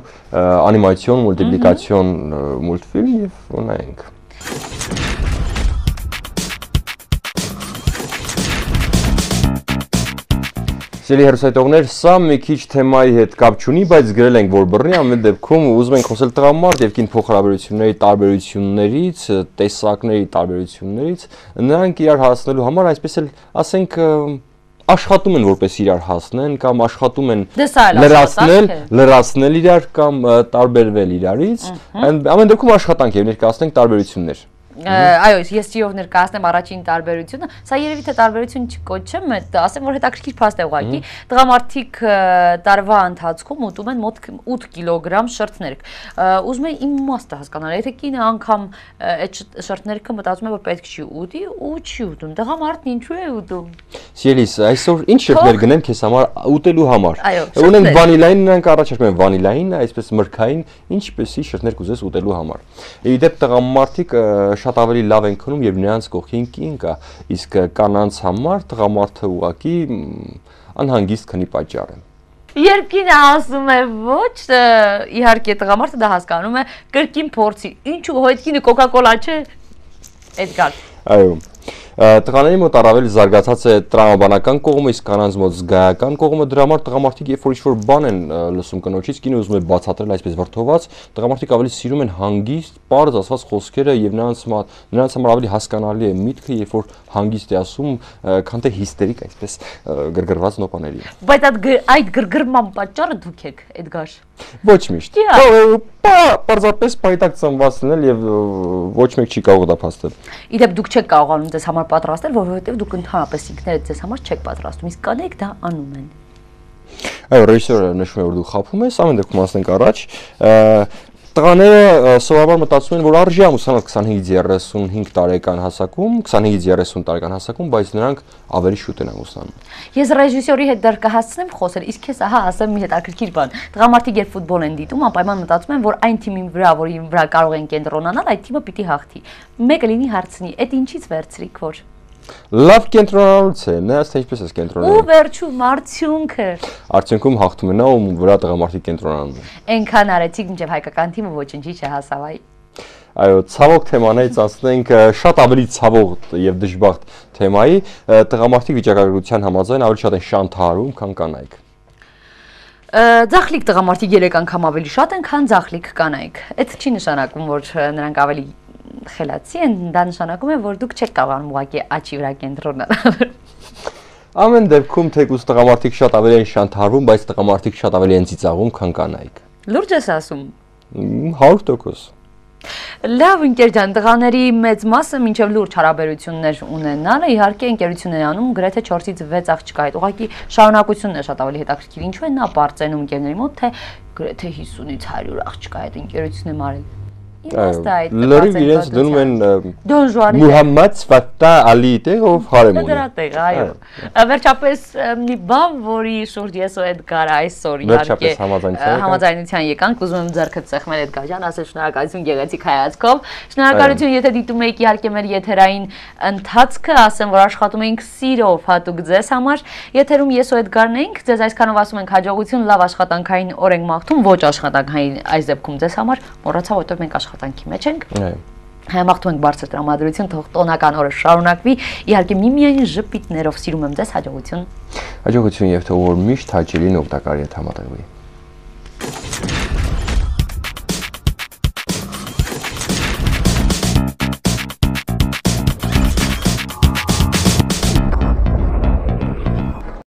անիմացիոն, մուլտիպլիկացիոն մուլտֆիլմ եւ ունենք։ Սիրելի հեռուստատողներ, սա մի քիչ թեմայի հետ կապ չունի, բայց գրել ենք, որ բռնի, ամեն դեպքում ուզում ենք խոսել տղամարդ եւ կին փոխհարաբերությունների տարբերություններից, տեսակների տարբերություններից, նրանք իրար հասնելու համար, այսպես էլ ասենք, աշխատում են որպես իրար հասնեն կամ աշխատում են լրացնել իրար կամ տարբերվել իրարից, ամեն դեպքում աշխատանք եւ ներկայացնենք տարբերություններ։ Այո, ես ճիով ներկայացնեմ առաջին տարբերությունը, սա երևի թե տարբերություն չկոչեմ, ասեմ, որ հետաքրքիր փաստ է ուղղակի, տղամարդիկ տարվա ընթացքում ուտում են մոտ 8 կիլոգրամ շրթներ։ Ուզում եմ իմաստը հասկանալ, եթե կինը անգամ այդ շրթներքը մտածում է, որ պետք չի ուտի ու չի ուտում, տղամարդն ինչու է ուտում։ Սիրելիս, այսօր ինչ շրթներ գնեմ քեզ համար ուտելու համար։ Ունենք վանիլային, նրանք առաջարկում են վանիլային, այսպես մրգային, ինչպեսի շրթներ կուզես ուտելու համար։ Իդեպ տղամարդիկ շատ ավելի լավ են քնում, երբ նրանց կողքին կին կա, իսկ կանանց համար տղամարդը ուղղակի անհանգիստ քնի պատճառ է։ Երբ կինը ասում է ոչ, իհարկե տղամարդը դա հասկանում է, կրկին փորձի։ Ինչու հո այդ կինը կոկա-կոլա չէ։ Էդգար։ Այո։ Տղաների մոտ առավել զարգացած է տրամաբանական կողմը, իսկ կանանց մոտ զգայական կողմը, դրա համար տղամարդիկ երբ որ ինչ-որ բան են լսում կնոջից, կինը ուզում է բացատրել այսպես վրդոված, տղամարդիկ ավելի սիրում են հանգիստ, պարզ ասված խոսքերը եւ նրանց համար ավելի հասկանալի է միտքը, երբ որ հանգիստ է ասում, քան թե հիստերիկ այսպես գրգռված նոպաների։ Բայց այդ գրգռման պատճառը դուք եք, Էդգար։ Ոչ միշտ։ Պարզապես պայտակ ծնված լինել եւ ոչ մեկ չի կարող դա փաստել։ Իդեպ դուք չեք կարողանում ձեզ համար պատրաստել, որովհետեւ դուք ընդհանրապես ինքներդ ձեզ համար չեք պատրաստում, իսկ կանայք դա անում են։ Այո, ռեժիսորը նշում է, որ դու խափում ես, ամեն դեպքում ասենք առաջ, տղաները սովորաբար մտածում են, որ արժի ամուսնանալ 25-35 տարեկան հասակում, 25-30 տարեկան հասակում, բայց նրանք ավելի շուտ են ամուսնանում։ Ես ռեժիսորի հետ դեռ կհասցնեմ խոսել, իսկ քեզ ահա ասեմ մի հետաքրքիր բան։ Տղամարդիկ երբ ֆուտբոլ են դիտում, անպայման մտածում են, որ այն թիմին վրա, որի վրա կարող են կենտրոնանալ, այդ թիմը պիտի հաղթի։ Մեկը լինի հարցնի, այդ ինչից վերցրիք որ։ Լավ կենտրոնանալուց է, նայած թե ինչպես ես կենտրոնանում։ Ու վերջում արդյունքը։ Արդյունքում հաղթում է նա, ում վրա տղամարդիկ կենտրոնանում են։ Այնքան արեցիք, մինչև հայկական թիմը ոչինչի չհասավ այ։ Այո, ցավոք թեմանից ասենք շատ ավելի ցավոք եւ դժբախտ թեմայի, տղամարդիկ վիճակագրության համաձայն ավելի շատ են շանթարում, քան կանայք։ Ձախլիկ տղամարդիկ 3 անգամ ավելի շատ են, քան ձախլիկ կանայք։ Այդ չի նշանակում, որ նրանք ավելի խելացի են, դա նշանակում է, որ դուք չեք կարողանում ուղղակի աչի վրա կենտրոնանալ։ Ամեն դեպքում թեկուզ տղամարդիկ շատ ավելի են շանթարվում, բայց տղամարդիկ շատ ավելի են ծիծաղում, քան կանայք։ Լուրջ ես ասում։ 100%։ Լավ, ընկեր ջան, տղաների մեծ մասը մինչև լուրջ հարաբերություններ ունենալը իհարկե ընկերություն է անում գրեթե 4-ից 6 աղջկա հետ։ Ուղղակի շարունակությունն է շատ ավելի հետաքրքիր։ Ինչու է նա բարձրանում ընկերների մոտ, թե գրեթե 50-ից 100 աղջկա հետ ընկերություն եմ արել։ Լրիվ իրենց դնում են Դոն Ժուանի Մուհամմադ Ֆաթա Ալի տեղով հարեմ ունի։ Դրա տեղ, այո։ Վերջապես մի բան, որի շուրջ ես ու Էդգարը այսօր իհարկե համաձայնության եկանք, ուզում եմ ձեռքը ծეხմել Էդգար ջան, ասել շնորհակալություն գեղեցիկ հայացքով։ Շնորհակալություն, եթե դիտում եք իհարկե մեր եթերային ընթացքը, ասեմ, որ աշխատում ենք սիրով հատուկ ձեզ համար։ Եթերում ես ու Էդգարն ենք, ձեզ այսքանով ասում ենք հաջողություն, լավ աշխատանքային օր ենք մաղթում, ոչ աշխատանքային այս դեպքում ձեզ համար, մոռացա, որտեղ մենք աշխատանքի մեջ ենք։ Մաղթում ենք բարձր տրամադրություն, թող տոնական օրը շարունակվի։ Իհարկե միմիայն ժպիտներով սիրում եմ ձեզ, հաջողություն։ Հաջողություն եւ թող որ միշտ հաճելին օգտակար հետ համատեղվի։